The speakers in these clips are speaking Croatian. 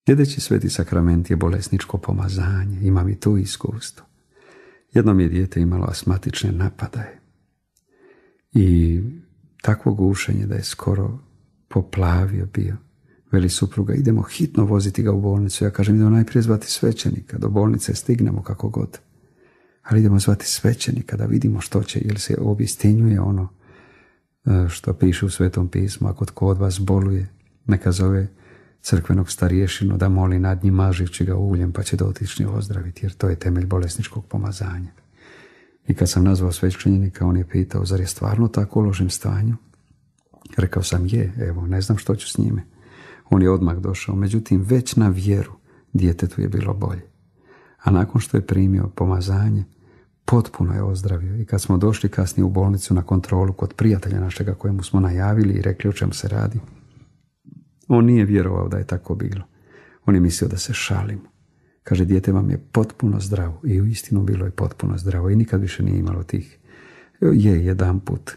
Sljedeći sveti sakrament je bolesničko pomazanje. Imam i tu iskustvo. Jednom je dijete imalo astmatične napadaje i takvo gušenje da je skoro poplavio bio. Veli supruga, idemo hitno voziti ga u bolnicu. Ja kažem, idemo najprije zvati svećenika, do bolnice stignemo kako god. Ali idemo zvati svećenika da vidimo što će, jer se obistinjuje ono što piše u Svetom pismu. Ako tko od vas boluje, neka zove crkvenog starješinu da moli nad njim mažući ga uljem, pa će dotični ozdraviti, jer to je temelj bolesničkog pomazanja. I kad sam nazvao svećenika, on je pitao, zar je stvarno tako u lošem stanju? Rekao sam, je, evo, ne znam što ću s njime. On je odmah došao, međutim, već na vjeru djetetu je bilo bolje. A nakon što je primio pomazanje, potpuno je ozdravio. I kad smo došli kasnije u bolnicu na kontrolu kod prijatelja našega kojemu smo najavili i rekli o čemu se radi, on nije vjerovao da je tako bilo. On je mislio da se šalimo. Kaže, dijete vam je potpuno zdravo. I uistinu bilo je potpuno zdravo i nikad više nije imalo tih. Jedanput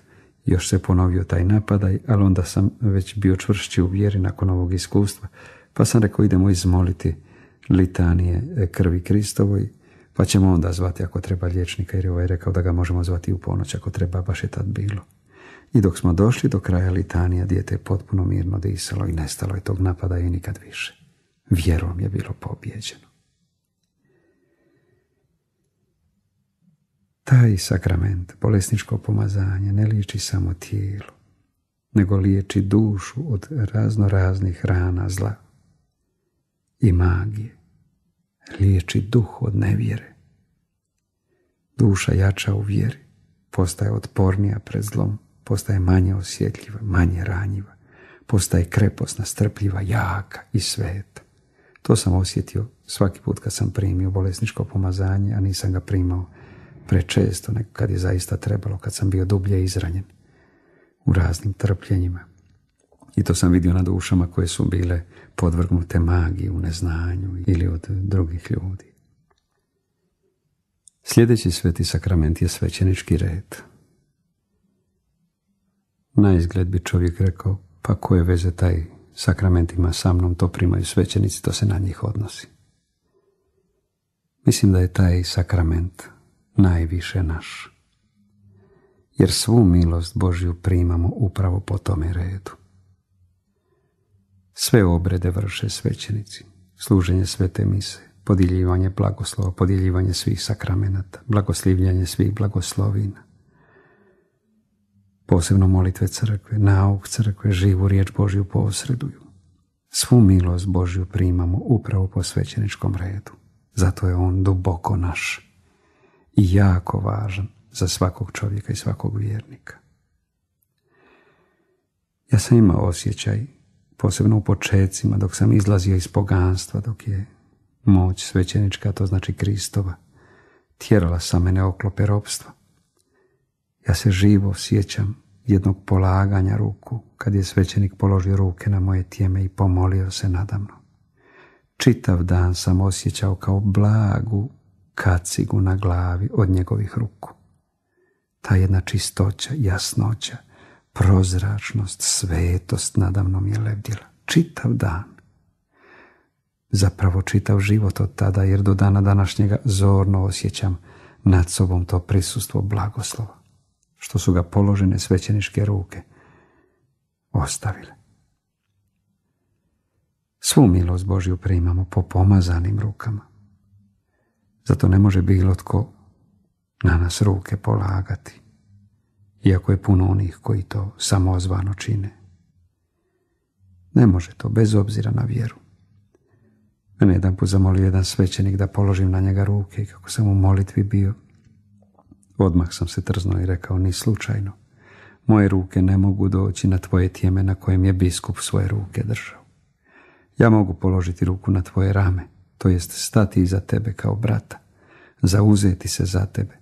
još se ponovio taj napadaj, ali onda sam već bio čvršći u vjeri nakon ovog iskustva. Pa sam rekao, idemo izmoliti litanije krvi Kristovoj, pa ćemo onda zvati ako treba liječnika, jer je ovaj rekao da ga možemo zvati u ponoć ako treba, baš je tad bilo. I dok smo došli do kraja litanija, dijete je potpuno mirno disalo i nestalo je tog napada i nikad više. Vjerom je bilo pobijeđeno. Taj sakrament, bolesničko pomazanje, ne liječi samo tijelo, nego liječi dušu od raznoraznih rana zla i magije. Liječi duh od nevjere. Duša jača u vjeri, postaje otpornija pred zlom, postaje manje osjetljiva, manje ranjiva, postaje kreposna, strpljiva, jaka i sveta. To sam osjetio svaki put kad sam primio bolesničko pomazanje, a nisam ga primao prečesto, nego kad je zaista trebalo, kad sam bio dublje izranjen u raznim trpljenjima. I to sam vidio na dušama koje su bile podvrgnute magiji u neznanju ili od drugih ljudi. Sljedeći sveti sakrament je svećenički red. Na izgled bi čovjek rekao, pa koje veze taj sakrament ima sa mnom, to primaju svećenici, to se na njih odnosi. Mislim da je taj sakrament najviše naš, jer svu milost Božju primamo upravo po tome redu. Sve obrede vrše svećenici, služenje svete mise, podjeljivanje blagoslova, podjeljivanje svih sakramenata, blagoslivljanje svih blagoslovina, posebno molitve crkve, nauk crkve, živu riječ Božju posreduju. Svu milost Božju primamo upravo po svećeničkom redu. Zato je on duboko naš i jako važan za svakog čovjeka i svakog vjernika. Ja sam imao osjećaj, posebno u počecima, dok sam izlazio iz poganstva, dok je moć svećenička, to znači Kristova, tjerala sa mene oklope ropstva. Ja se živo sjećam jednog polaganja ruku, kad je svećenik položio ruke na moje tijeme i pomolio se nadamno. Čitav dan sam osjećao kao blagu kacigu na glavi od njegovih ruku. Ta jedna čistoća, jasnoća, prozračnost, svetost nadamno mi je lebdjela. Čitav dan. Zapravo čitav život od tada, jer do dana današnjega zorno osjećam nad sobom to prisustvo blagoslova, što su ga položene svećeničke ruke ostavile. Svu milost Božju primamo po pomazanim rukama. Zato ne može bilo tko na nas ruke polagati, iako je puno onih koji to samozvano čine. Ne može to, bez obzira na vjeru. Mene jedan put zamolio jedan svećenik da položim na njega ruke i kako sam u molitvi bio, odmah sam se trznuo i rekao, ni slučajno. Moje ruke ne mogu doći na tvoje tijeme na kojem je biskup svoje ruke držao. Ja mogu položiti ruku na tvoje rame, to jest stati iza tebe kao brata, zauzeti se za tebe,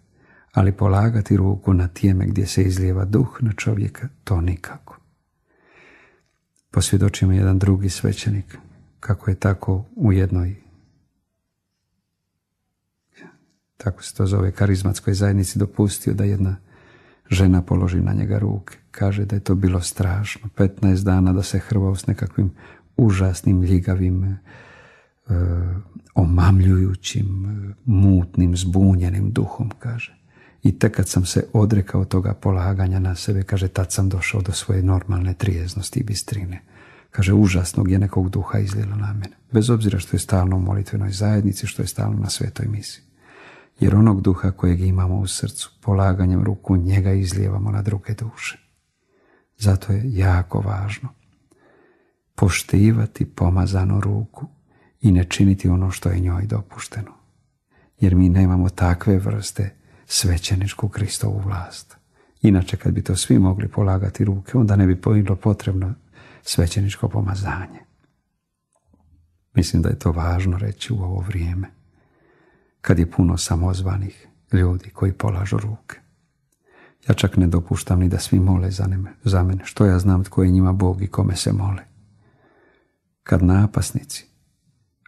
ali polagati ruku na tijeme gdje se izlijeva duh na čovjeka, to nikako. Posvjedočio mi jedan drugi svećenik kako je tako u jednoj, tako se to zove, karizmatskoj zajednici dopustio da jedna žena položi na njega ruke. Kaže da je to bilo strašno. 15 dana da se hrvao s nekakvim užasnim ljigavim omamljujućim, mutnim, zbunjenim duhom, kaže. I tek kad sam se odrekao toga polaganja na sebe, kaže, tad sam došao do svoje normalne trijeznosti i bistrine. Kaže, užasnog je nekog duha izlilo na mene. Bez obzira što je stalno u molitvenoj zajednici, što je stalno na svetoj misi. Jer onog duha kojeg imamo u srcu, polaganjem ruku, njega izlijevamo na druge duše. Zato je jako važno poštivati pomazanu ruku i ne činiti ono što je njoj dopušteno. Jer mi nemamo takve vrste svećeničku Kristovu vlast. Inače, kad bi to svi mogli polagati ruke, onda ne bi bilo potrebno svećeničko pomazanje. Mislim da je to važno reći u ovo vrijeme, kad je puno samozvanih ljudi koji polažu ruke. Ja čak ne dopuštam ni da svi mole za mene. Što ja znam tko je njima Bog i kome se mole? Kad napasnici,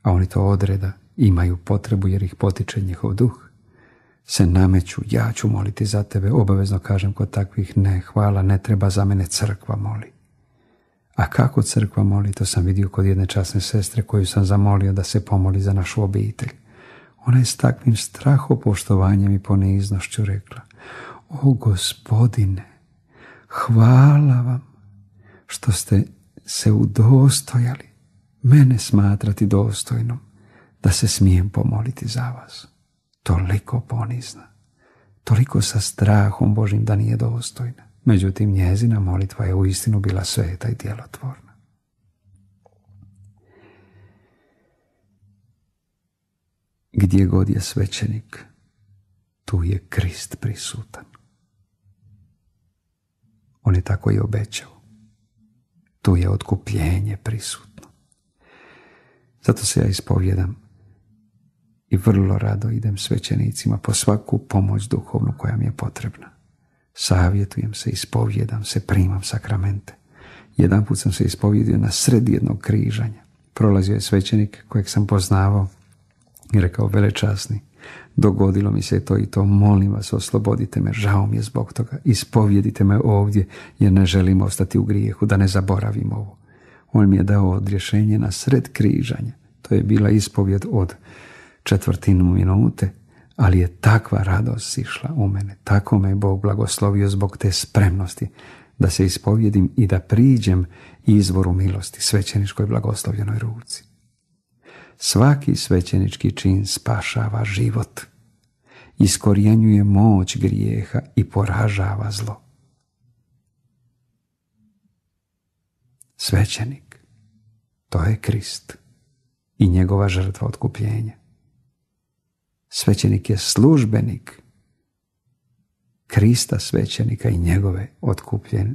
a oni to odreda, imaju potrebu jer ih potiče njihov duh, se nameću, ja ću moliti za tebe, obavezno kažem kod takvih, ne, hvala, ne treba, za mene crkva moli. A kako crkva moli, to sam vidio kod jedne časne sestre koju sam zamolio da se pomoli za našu obitelj. Ona je s takvim strahopoštovanjem i poniznošću rekla: o Gospodine, hvala vam što ste se udostojali mene smatrati dostojnom da se smijem pomoliti za vas. Toliko ponizna, toliko sa strahom Božim da nije dostojna. Međutim, njezina molitva je uistinu bila sveta i djelotvorna. Gdje god je svećenik, tu je Krist prisutan. On je tako i obećao. Tu je otkupljenje prisutno. Zato se ja ispovjedam i vrlo rado idem svećenicima po svaku pomoć duhovnu koja mi je potrebna. Savjetujem se, ispovjedam se, primam sakramente. Jedanput sam se ispovjedio na sred jednog križanja. Prolazio je svećenik kojeg sam poznavao i rekao: velečasni, dogodilo mi se to i to, molim vas, oslobodite me, žao mi je zbog toga, ispovjedite me ovdje jer ne želim ostati u grijehu, da ne zaboravim ovo. On mi je dao odrješenje na sred križanja. To je bila ispovjed od 1/4 minute, ali je takva radost išla u mene, tako me je Bog blagoslovio zbog te spremnosti da se ispovjedim i da priđem izvoru milosti, svećeničkoj blagoslovljenoj ruci. Svaki svećenički čin spašava život, iskorjenjuje moć grijeha i poražava zlo. Svećenik, to je Krist i njegova žrtva otkupljenja. Svećenik je službenik Krista svećenika i njegove otkupljene